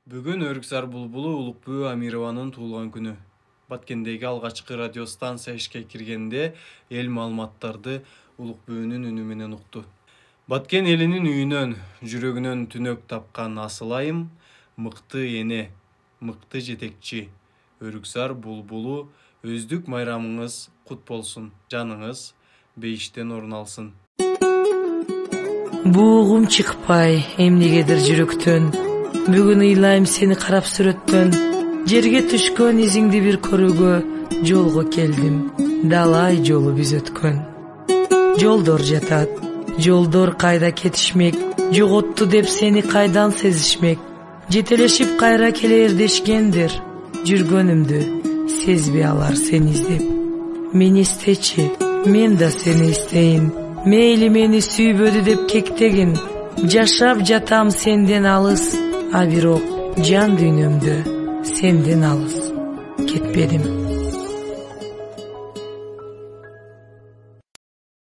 Бүгүн Өрүксар Булбулу Улукбүү Амированын туулган күнү. Баткендеги алгачкы радио станция ишке киргенде эл маалыматтарды Улукбүүнүн үнү менен укту. Баткен элинин үйүнөн, жүрөгүнөн түнөк тапкан асыл айым, мыкты эне, мыкты жетекчи. Өрүксар Булбулу өздүк майрамыңыз кут болсун. Жаныңыз бейиштен орун алсын. Бугум чыкпай эмнегедир жүрөктөн. Бүгүн ыйлайм сени карап сүрөттөн. Жерге түшкөн изиңди бир көрүүгө жолго келдим. Далай жолу биз өткөн. Жолдор жатат, жолдор кайда кетишмек. Жоготту деп сени кайдан сезишмек. Жетелешип кайра келер дешкендир. Жүргөнүмдү сезбей алар сени издеп. Мени истечи, мен да сени истейин. Мейли мени сүйбөдү деп кектегин. Жашап жатам сенден алыс, а бирок жан дүйнөмдө сенден алыс кетпедим.